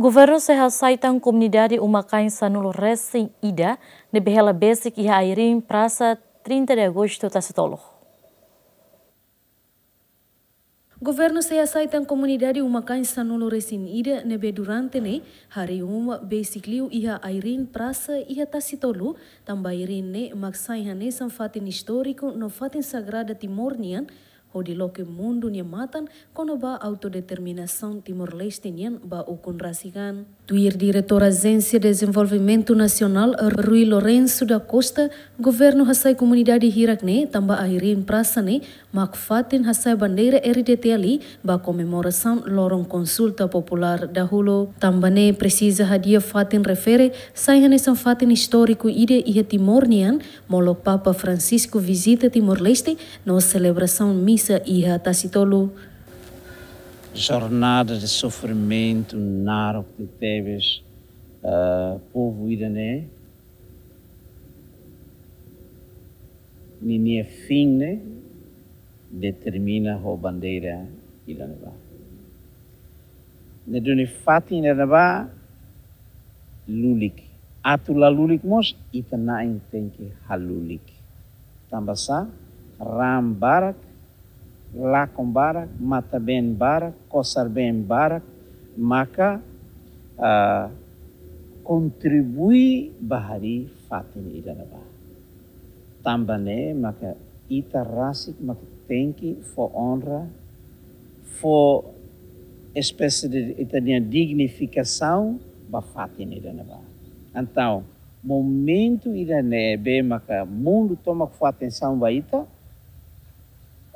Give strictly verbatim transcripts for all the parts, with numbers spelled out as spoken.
Governu sei hasai tan komunidade uma-kain sanulu resin ida ne'ebé hela besik iha ai-riin Prasa trinta de Agosto Tasitolu. Governu sei hasai tan komunidade uma-kain sanulu resin ida ne'ebé durante ne'e harii uma besik liu iha ai-riin Prasa iha Tasitolu, tanba ai-riin ne'e mak sai hanesan fatin istóriku no fatin sagrada Timor nian, hodi loke mundu nia matan kona-ba autodeterminasaun Timor-Leste nian ba ukun rasik an. Tuir Diretór Ajénsia Dezenvolvimentu Nasionál, Rui Lourenço da Costa, governu hasai komunidade hirak ne'e tanba ai-riin Prasa ne'e mak fatin hasai bandeira R D T L ba komemorasaun loron konsulta populár dahuluk. Tanba ne'e presiza hadi'a fatin refere sai hanesan fatin istóriku ida iha Timor nian, molok Papa Francisco vizita Timor-Leste no selebrasaun misa iha Tasitolu. Jornada de sofrimentu naruk tebes, eh, povu ida-ne'e, ninia fin ne'e determina ho bandeira ida-ne'ebá. Ne'e duni fatin ida-ne'ebá lulik. Atu la lulik mós, ita na'in tenke halulik. Tanba sá, raan barak, lakon barak, matan-been barak, kosar-been barak, maka, ah, kontribui ba harii fatin ida-ne'ebá. Tanba ne'e maka ita rasik maka tenke fó onra, fó espésie de ita-nia dignifikasaun ba fatin ida-ne'ebá. Entaun, momentu ida-ne'ebé maka mundu tomak fó atensaun ba ita,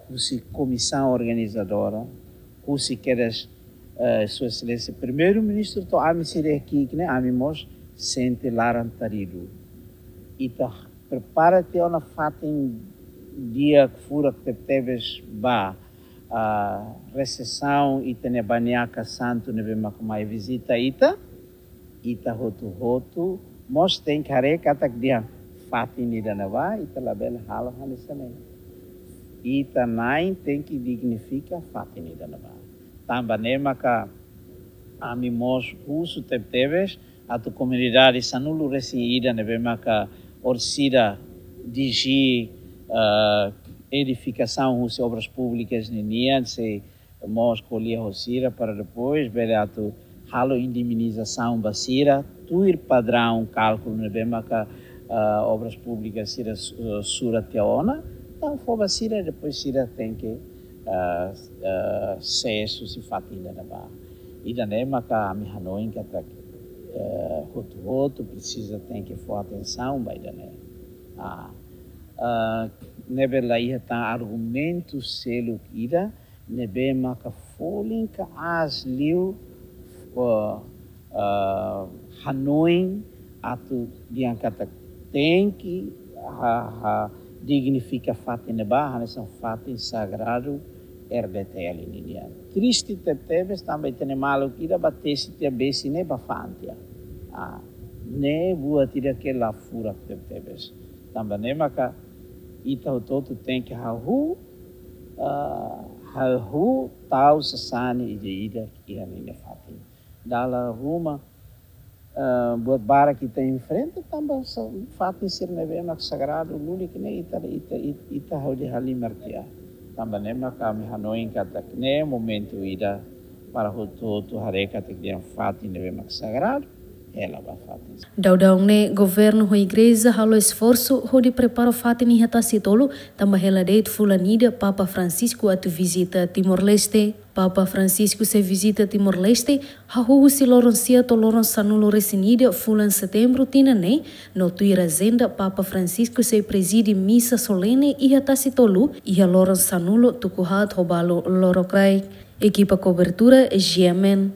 husi komisaun organizadora, husi kedas, eh, Sua Exelénsia Primeiru-Ministru to'o ami sira ki'ik ne'e, ami mós sente laran-taridu. Ita prepara tiha ona fatin di'ak furak tebetebes ba, ah, resepsaun ita-nia Baniaka Santu ne'ebé maka mai vizita ita. Ita hotu-hotu mós tenke haree katak dehan fatin ida-ne'ebá ita labele halo hanesan ne'e. Ita na'in tenke dignifika fatin ida-ne'ebá. Tanba ne'e maka ami mós husu tebetebes atu komunidade sanulu resin ida ne'ebé maka orsida D G, eh, edifikasaun husi Obras Públikas ninian sei mós ko'alia ho sira para depois bele atu halo indemnizasaun ba sira, tuir padraun kálkulu ne'ebé maka, ah, Obras Públikas sira su-, sura tiha ona, entaun fó ba sira, depois sira tenke, ah, ah, sesu husi fatin ida-ne'ebá. Ida-ne'e maka ami hanoin katak, eh, hotu-hotu presiza tenke fó atensaun ba ida-ne'e. Ah, ah, ne'ebé la iha tan argumentu seluk ida, ne'ebé maka folin ka aas liu, eh, eh, hanoin atu dehan katak tenke ha, ha dignifika fatin ne'ebá hanesan fatin sagradu R D T L ninian. Triste tebetebes tanba ita-nia maluk ida ba tesi tiha besi ne'e ba fa'an tiha. Ah, ne'e buat ida ke la furak tebetebes. Tanba ne'e maka ita hotu-hotu tenke hahú, ah, hahú tau sasán ida-idak iha ninia fatin. Dala ruma, ah, buat barak ita enfrenta tanba sa-, fatin sira ne'ebé mak sagradu lulik ne'e ita, ita, ita, ita hodi halimar tiha. Tanba ne'e maka ami hanoin katak ne'e momentu ida para hotu-hotu haree katak dehan fatin ne'ebé mak sagradu hela ba fatin. Daudaun ne'e governu ho igreja halo esforsu hodi prepara fatin iha Tasitolu, tanba hela de'it fulan ida Papa Francisco atu vizita Timor-Leste. Papa Francisco sei vizita Timor-Leste hahú husi loron sia to'o loron sanulu resin ida fulan Setembru tinan ne'e, no tuir ajenda Papa Francisco sei prezide misa solene iha Tasitolu iha loron sanulu tuku haat ho balu lorokraik. Ekipa kobertura G M N.